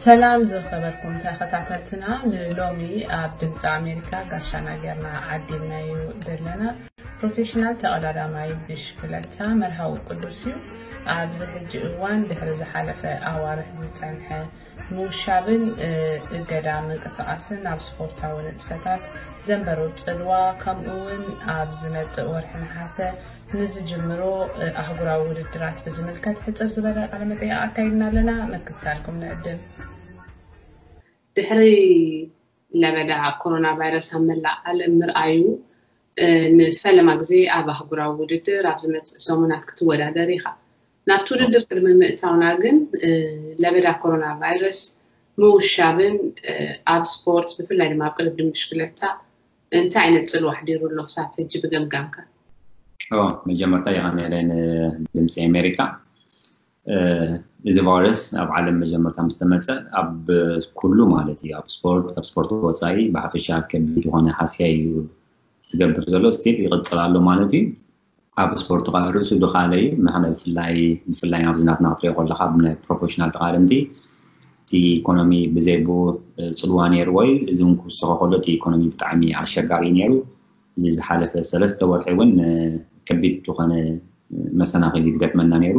ሰላም ዝኸበርኩም ተኸታተልትና፣ ንሎሚ ኣብ ድምፂ ኣሜሪካ ጋሻና ጌርና ዓዲምናዮ ዘለና ፕሮፌሽናል ተቐዳዳማይ ብሽክለታ መርሃዊ ቅዱስ እዩ። ኣብዚ ሕጂ እዋን ድሕሪ ዝሓለፈ ኣዋርሕ ዝፀንሐ ምውሻብን እገዳ ምንቅስቃስን ኣብ ስፖርታዊ ንጥፈታት ዘንበሩ ፅልዋ፣ ከምኡ እውን ኣብ ዝመፅእ ወርሒ ነሓሰ ንዝጅምሮ ኣህጉራዊ ውድድራት ብዝምልከት ሕፅር ዝበለ ቃለ መጠይቅ ኣካይድና ኣለና። ምክትታልኩም ንዕድም። ድሕሪ ለበዳ ኮሮና ቫይረስ ኣብ መላእ ዓለም ምርኣዩ፣ ንፈለማ ግዜ ኣብ ኣህጉራዊ ውድድር ኣብ ዝመፅእ ሰሙናት ክትወዳደር ኢኻ። ናብቲ ውድድር ቅድሚ ምእታውና ግን፣ ለበዳ ኮሮና ቫይረስ ምውሻብን ኣብ ስፖርት፣ ብፍላይ ድማ ኣብ ቅድድም ብሽክለታ እንታይ ዓይነት ፅልዋ ኣሕዲሩ ኣሎ ክሳብ ሕጂ ብገምጋምካ? መጀመርታ የቐንየለይ ንድምፂ ኣሜሪካ። እዚ ቫይረስ ኣብ ዓለም መጀመርታ ምስ ተመፀ ኣብ ኩሉ ማለት እዩ፣ ኣብ ስፖርት፣ ካብ ስፖርት ወፃኢ ብሓፈሻ ከቢድ ዝኾነ ሃስያ እዩ ዝገብር ዘሎ። ስቲል ይቕፅል ኣሎ ማለት እዩ። ኣብ ስፖርት ከዓ ርእሱ ድኻለ እዩ። ንሕና ብፍላይ ብፍላይ ኣብዚ ናትና ክትሪኦ ከለካ ብናይ ፕሮፌሽናል ተቓደምቲ እቲ ኢኮኖሚ ብዘይ ብኡ ፅልዋ ነይርዎ እዩ። እዚ እውን ክውስኸ ከሎ እቲ ኢኮኖሚ ብጣዕሚ ኣሸጋሪ እዩ ነይሩ። እዚ ዝሓለፈ ሰለስተ ወርሒ እውን ከቢድ ዝኾነ መሰናኽል ይገጥመና ነይሩ።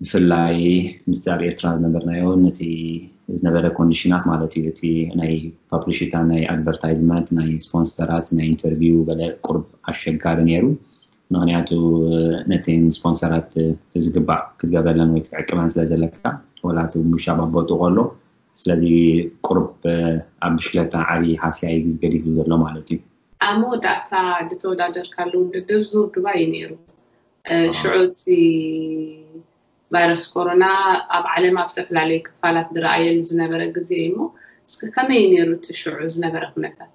ብፍላይ ምስቲ ኣብ ኤርትራ ዝነበርናዮ ነቲ ዝነበረ ኮንዲሽናት ማለት እዩ። እቲ ናይ ፓብሊሽታ ናይ ኣድቨርታይዝመንት ናይ ስፖንሰራት ናይ ኢንተርቪው በለ ቁርብ ኣሸጋሪ ነይሩ። ምክንያቱ ነቲ ስፖንሰራት ዝግባእ ክትገብረለን ወይ ክትዕቅበን ስለ ዘለካ ወላ እቲ ሙሻ ባቦቱ ከሎ ስለዚ ቁርብ ኣብ ብሽክለታ ዓብዪ ሃስያ እዩ ገዲፉ ዘሎ ማለት እዩ። ኣብ መወዳእታ ዝተወዳደርካሉ ውድድር ዙር ዱባይ እዩ ነይሩ። ሽዑ እቲ ቫይረስ ኮሮና ኣብ ዓለም ኣብ ዝተፈላለዩ ክፋላት ዝረኣየሉ ዝነበረ ግዜ እዩ እሞ እስኪ ከመይ እዩ ነይሩ እቲ ሽዑ ዝነበረ ኩነታት?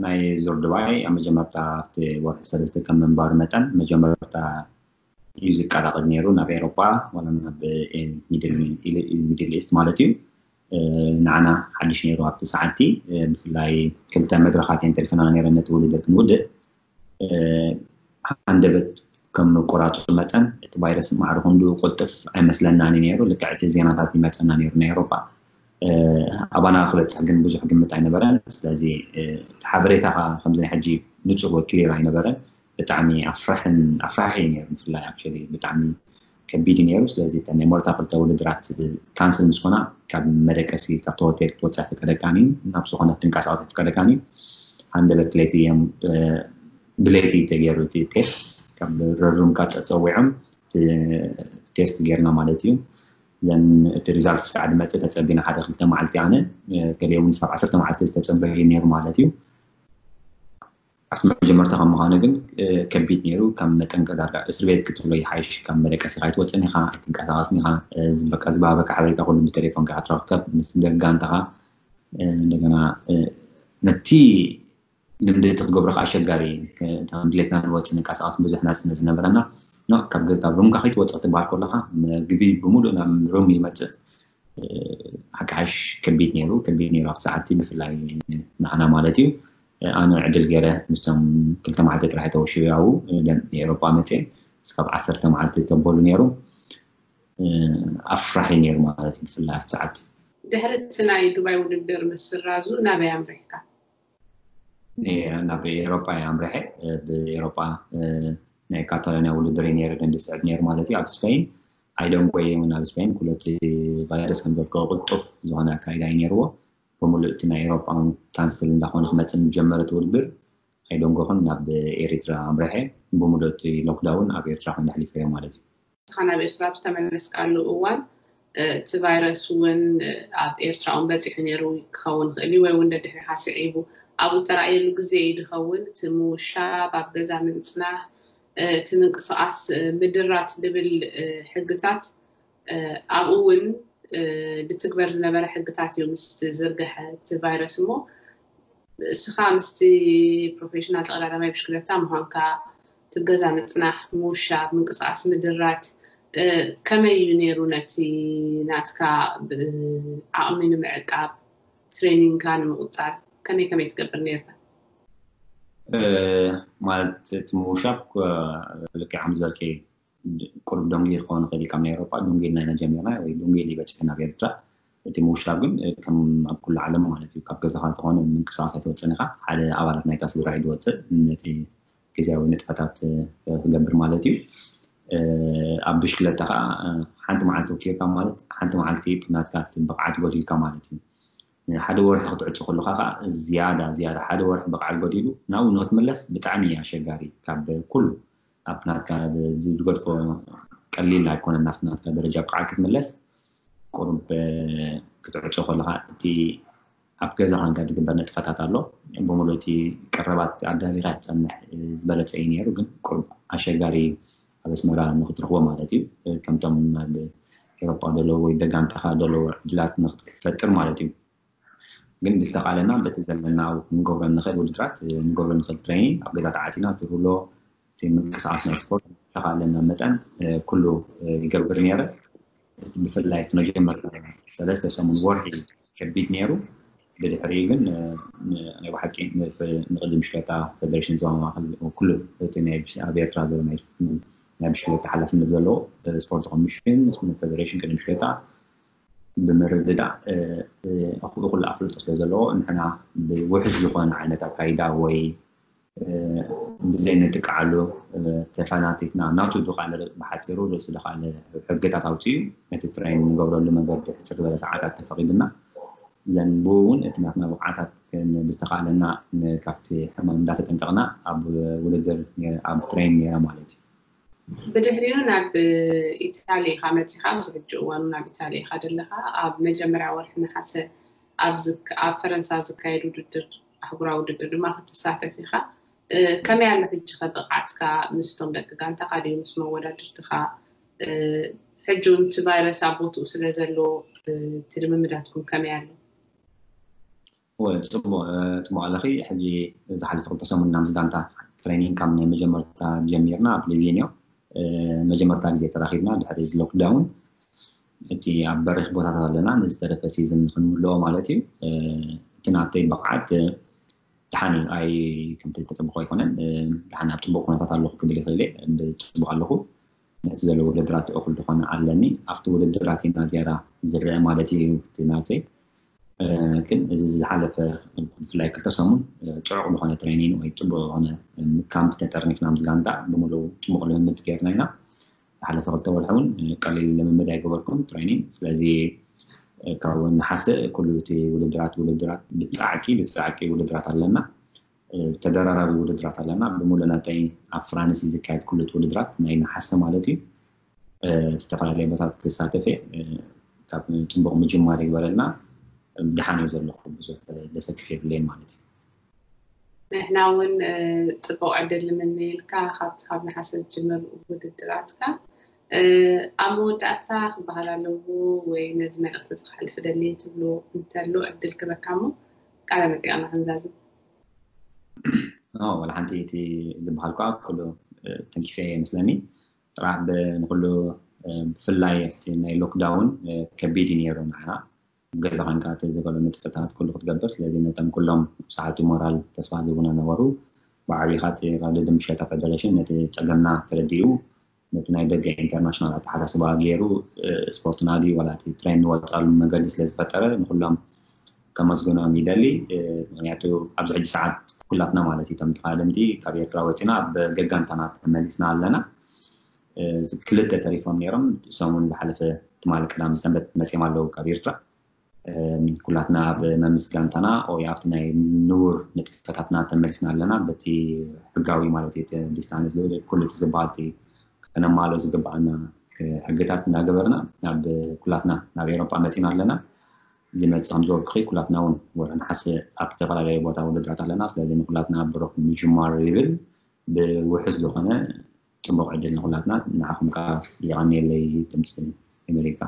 ናይ ዙር ዱባይ ኣብ መጀመርታ ኣብቲ ወርሒ ሰለስተ ከም ምንባሩ መጠን መጀመርታ እዩ ዝቀላቐል ነይሩ ናብ ኤሮጳ ወላ ናብ ሚድል ኢስት ማለት እዩ። ንዓና ሓድሽ ነይሩ ኣብቲ ሰዓቲ። ብፍላይ ክልተ መድረኻት እየን ተሪፈና ነይረን ነቲ ውድድር ክንውድእ። ሃንደበት ከም ምቁራፁ መጠን እቲ ቫይረስ ማዕረ ክንድኡ ቅልጥፍ ኣይመስለናን ነይሩ። ልክዕ እቲ ዜናታት ይመፀና ነይሩ ናይ ኤሮፓ። ኣባና ክበፅሕ ግን ብዙሕ ግምት ኣይነበረን። ስለዚ እቲ ሓበሬታ ከዓ ከምዚ ናይ ሕጂ ንፁር ወይ ክሊር ኣይነበረን። ብጣዕሚ ኣፍራሕን ኣፍራሒ እዩ ነይሩ። ብፍላይ ኣክቹዋሊ ብጣዕሚ ከቢድ እዩ ነይሩ። ስለዚ እተን ናይ ሞርታ ክልተ ውድድራት ካንስል ምስ ኮና ካብ መደቀሲ ካብቲ ሆቴል ክትወፅእ ኣይፍቀደካን እዩ፣ ናብ ዝኾነ ትንቀሳቐስ ኣይፍቀደካን እዩ። ሃንደበት ለይቲ እዮም ብለይቲ ተገይሩ እቲ ቴስት ካብ ረድሩምካ ፀፀዊዖም ቴስት ጌርና ማለት እዩ። ዘን እቲ ሪዛልት ስካዕ ድመፅእ ተፀቢና ሓደ ክልተ መዓልቲ ኣነ ገሊኦም ምስ ኣብ ዓሰርተ መዓልቲ ዝተፀበዩ ነይሩ ማለት እዩ። ኣብቲ መጀመርታ ከም ምዃኑ ግን ከቢድ ነይሩ። ካብ መጠን ዳርጋ እስር ቤት ክትብሎ ይሓይሽ። ካብ መደቀሲኻ ኣይትወፅን ኢኻ፣ ኣይትንቀሳቐስን ኢኻ። ዝበቃ ዝባበካ ሓበሬታ ኩሉ ብቴሌፎንካ ክትረክብ ምስ ደጋንታኻ እንደገና ነቲ ልምዲ እቲ ክገብሮ ከዓ ኣሸጋሪ እዩ። ድሌትና ንወፅእ ንንቀሳቐስ ብዙሕ ናፅነት ዝነበረና ካብ ገዛ ሩምካ ከይትወፅእ ትበሃል ከለካ ምግቢ ብምሉእ ናብ ሩም ይመፅእ። ሓቂ ሓሽ ከቢድ ነይሩ ከቢድ ነይሩ ኣብቲ ሰዓቲ ብፍላይ ንዓና ማለት እዩ። ኣነ ዕድል ገይረ ምስቶም ክልተ መዓልቲ ጥራሕ ተወሽበ ኣብኡ ኤሮፓ መፅየ እስካብ ዓሰርተ መዓልቲ ተበሉ ነይሩ። ኣፍራሒ ነይሩ ማለት እዩ ብፍላይ ኣብቲ ሰዓቲ። ድሕሪ እቲ ናይ ዱባይ ውድድር ምስራዙ ናበይ ኣምሪሕካ? ናብ ኤሮፓ እየ ኣምሪሐ። ብኤሮፓ ናይ ካታሎኒያ ውድድር እዩ ነይሩ ግን ዝስዕብ ነይሩ ማለት እዩ ኣብ ስፔን። ኣይደንጎየ እውን ኣብ ስፔን ኩለቲ ቫይረስ ከም ዘልከ ቅልጡፍ ዝኾነ ኣካይዳ እዩ ነይርዎ። ብምሉእ እቲ ናይ ኤሮፓ እውን ካንስል እንዳኾነ ክመፅእ ዝጀመረ እቲ ውድድር ኣይደንጎኹን ናብ ኤሪትራ ኣምሪሐ። ብምሉእ እቲ ሎክዳውን ኣብ ኤርትራ ኮይነ ኣሕሊፈዮ ማለት እዩ። ንስኻ ናብ ኤርትራ ኣብ ዝተመለስካሉ እዋን እቲ ቫይረስ እውን ኣብ ኤርትራ እውን በፂሑ ነይሩ ክኸውን ይኽእል እዩ ወይ እውን ደድሕሪኻ ስዒቡ ኣብኡ እተራእየሉ ግዜ እዩ ዝኸውን። እቲ ምውሻብ፣ ኣብ ገዛ ምንፅናሕ፣ እቲ ምንቅስቓስ ምድራት ዝብል ሕግታት ኣብኡ እውን ዝትግበር ዝነበረ ሕግታት እዩ ምስ ዝርገሐ እቲ ቫይረስ እሞ እስኻ ምስቲ ፕሮፌሽናል ተቐዳዳማይ ብሽክለታ ምዃንካ እቲ ገዛ ምፅናሕ፣ ምውሻብ፣ ምንቅስቃስ ምድራት ከመይ እዩ ነይሩ ነቲ ናትካ ዓቕሚ ንምዕቃብ ትሬኒንግካ ንምቕፃል ከመይ ከመይ ትገብር ነይርካ? ማለት እቲ ምውሻብ ልክዕ ከም ዝበልከ ቁሩብ ደንጉዩ ክኸውን ይኽእል እዩ ካብ ናይ ኤውሮጳ፣ ደንጉዩ ኢልና ኢና ጀሚርና ወይ ደንጉዩ ኢሉ ይበፅሕ ናብ ኤርትራ። እቲ ምውሻብ ግን ከም ኣብ ኩሉ ዓለም ማለት እዩ። ካብ ገዛኻ እንተኾነ ምንቅስቃስ ኣይትወፅእን ኢኻ። ሓደ ኣባላት ናይታ ስድራ እዩ ዝወፅእ ነቲ ግዜያዊ ንጥፈታት ክገብር ማለት እዩ። ኣብ ብሽክለታ ከዓ ሓንቲ መዓልቲ ወኪርካ ማለት ሓንቲ መዓልቲ ናትካ ብቕዓት ጎዲልካ ማለት እዩ። ሓደ ወርሒ ክትዕፁ ከለካ ከዓ ዝያዳ ዝያዳ ሓደ ወርሒ ብቕዓት ጎዲሉ ናብኡ ንክትምለስ ብጣዕሚ ኣሸጋሪ ካብ ኩሉ ኣብ ናትካ ዝገድፎ ቀሊል ኣይኮነን። ናብቲ ናትካ ደረጃ ብቕዓት ክትምለስ ቁሩብ ክትዕፆ ከለካ እቲ ኣብ ገዛ ኮንካ ዝግበር ንጥፈታት ኣሎ። ብምሉእ እቲ ቀረባት ኣዳሊካ ክትፀንሕ ዝበለፀ እዩ ነይሩ፣ ግን ቁሩብ ኣሸጋሪ እዩ ኣብ ኣስመራ ንክትረክቦ ማለት እዩ። ከምቶም ኣብ ኤሮጳ ዘለዉ ወይ ደጋምታኻ ዘለዉ ዕድላት ንክትፈጥር ማለት እዩ። ግን ብዝተኻለና በቲ ዘለና ንገብሮ ንኽእል ውድድራት ንገብሮ ንኽእል ትሬኒንግ ኣብ ገዛ ተዓፂና እቲ ውሎ እቲ ምንቅስቃስ ናይ ስፖርት ብዝተኻለና መጠን ኩሉ ይገብር ነይረ። ብፍላይ እቲ መጀመርታ ሰለስተ ሰሙን ወርሒ ከቢድ ነይሩ። ብድሕሪኡ ግን ናይ ብሓቂ ንቅድዲ ምሽከታ ፌደሬሽን ዞባ ማእከል ኩሉ እቲ ኣብ ኤርትራ ዘሎ ናይ ብሽክለታ ሓላፍነት ዘለዎ ስፖርት ኮሚሽን ፌደሬሽን ቅድዲ ምሽከታ ብምርድዳእ ኩሉ ኣፍልጦ ስለ ዘለዎ ንሕና ብውሕስ ዝኾነ ዓይነት ኣካይዳ ወይ ብዘይ ንጥቃዓሉ ተፈናቲትና ናቱ ድቃለ ብሓፂሩ ርእሲ ድቃለ ሕግታት ኣውፅኡ ነቲ ትሬን ንገብረሉ መንገዲ ሕፅር ዝበለ ሰዓታት ተፈቂድና ዘን ብኡ እውን እቲ ናትና ብቕዓታት ብዝተኻለና ካብቲ ሕማም እንዳተጠንቀቕና ኣብ ውድድር ኣብ ትሬን ነይራ ማለት እዩ። ብድሕሪኡ ናብ ኢታሊ ኢኻ መፂኻ ኣብዚ ሕጂ እዋኑ ናብ ኢታሊ ኢኻ ዘለኻ ኣብ መጀመርያ ወርሒ ነሓሰ ኣብ ፈረንሳ ዝካየድ ውድድር ኣህጉራዊ ውድድር ድማ ክትሳተፍ ኢኻ። ከመይ ኣሎ ሕጂ ከ ብቕዓትካ ምስቶም ደቂ ጋንታኻ ድዩ ምስ መወዳድርትኻ? ሕጂ እውን እቲ ቫይረስ ኣብ ቦትኡ ስለ ዘሎ እቲ ልምምዳትኩም ከመይ ኣሎ? ጽቡቕ ጽቡቕ ኣለኺ። ሕጂ ዝሓለፈ ክልተ ሰሙን ናብ ዝጋንታ ትሬኒንግ ካብ ናይ መጀመርታ ጀሚርና ኣብ ሊቪንዮ መጀመርታ ግዜ ተራኺብና ድሕሪ እዚ ሎክዳውን እቲ ኣብ በሪኽ ቦታታት ኣለና ንዝተረፈ ሲዝን ንክንምልኦ ማለት እዩ። እቲ ናተይ ብቕዓት ደሓን እዩ። ኣይ ከምቲ ተፅብቆ ኣይኮነን። ደሓን ኣብ ፅቡቅ ኩነታት ኣለኹ ክብል ይኽእል እየ። ብፅቡቅ ኣለኹ። ነቲ ዘሎ ውድድራት እኹል ዝኾነ ኣለኒ። ኣብቲ ውድድራት ኢና ዝያዳ ዝረአ ማለት እዩ እቲ ናተይ። ግን እዚ ዝሓለፈ ብፍላይ ክልተ ሰሙን ፅዑቕ ዝኾነ ትሬኒን ወይ ፅቡቅ ዝኾነ ካምፕ ተጠርኒፍና ምስ ጋንታ ብምሉእ ፅቡቅ ልምምድ ገይርና ኢና። ዝሓለፈ ክልተ ወርሒ እውን ቀሊል ልምምድ ኣይገበርኩን ትሬኒንግ። ስለዚ ካብ ነሓሰ ኩሉ እቲ ውድድራት ውድድራት ብፃዕቂ ብፃዕቂ ውድድራት ኣለና። ተደራራቢ ውድድራት ኣለና። ብምሉእ ናተይ ኣብ ፍራንስ እዩ ዝካየድ ኩሉ እቲ ውድድራት ናይ ነሓሰ ማለት እዩ። ዝተፈላለዩ ቦታት ክሳተፍ እየ። ካብ ፅቡቅ ምጅማር ይግበረልና። ደሓን እዩ ዘለኹ ብዙሕ ደሰክፍ የብለይን ማለት እዩ። ንሕና እውን ፅቡቅ ዕድል ንምነየልካ ካብቲ ካብ ነሓሰ ዝጅምር ውድድራትካ። ኣብ መወዳእታ ክበሃል ኣለዎ ወይ ነዚ መልእክቲ እዚ ክሓልፍ ደሊ ትብሎ እንተሎ ዕድል ክበካ እሞ ቃለ መጠይቅና ክንዛዝም። ዋላ ሓንቲ እቲ ዝበሃል ከዓ ኩሉ ተንኪፈ ይመስለኒ። ጥራሕ ንኩሉ ብፍላይ ናይ ሎክዳውን ከቢድ እዩ ነይሩ ንዓና ገዛ ኮንካ እቲ ዝበሎ ንጥፈታት ኩሉ ክትገብር። ስለዚ ነቶም ኩሎም ሰዓቱ ሞራል ተስፋ ዝህቡና ነበሩ። ብዓብይኻ እቲ ካብ ደድም ሸታ ፌደሬሽን ነቲ ፀገምና ተረዲኡ ነቲ ናይ ደገ ኢንተርናሽናል ኣተሓሳስባ ገይሩ ስፖርትና ድዩ ዋላ እቲ ትሬን ንወፃሉ መንገዲ ስለዝፈጠረ ንኩሎም ከመስግኖም ይደሊ። ምክንያቱ ኣብዚ ሕጂ ሰዓት ኩላትና ማለት እዩ እቶም ተቃደምቲ ካብ ኤርትራ ወፂና ኣብ ገጋንታና ተመሊስና ኣለና። ክልተ ተሪፎም ነይሮም። ሰሙን ዝሓለፈ ትማሊ ቀዳም ሰንበት መፂኦም ኣለዉ ካብ ኤርትራ። ኩላትና ኣብ መምስ ጋንታና ወይ ኣብቲ ናይ ንቡር ንጥፈታትና ተመሊስና ኣለና። በቲ ሕጋዊ ማለት እዩ ዲስታንስ ኩሉ ዝበሃል ከነማሎ ዝግባኣና ሕግታት እናገበርና ናብ ኩላትና ናብ ኤሮጳ መፂና ኣለና። ዝመፅእ ከም ዝበልኩኺ ኩላትና እውን ወርሒ ነሓሰ ኣብ ዝተፈላለዩ ቦታ ውድድራት ኣለና። ስለዚ ንኩላትና ብሩኽ ምጅማር ይብል። ብውሕስ ዝኾነ ፅቡቕ ዕድል ንኩላትና። ንዓኹም ከዓ የቐንየለይ ድምፂ ኣሜሪካ።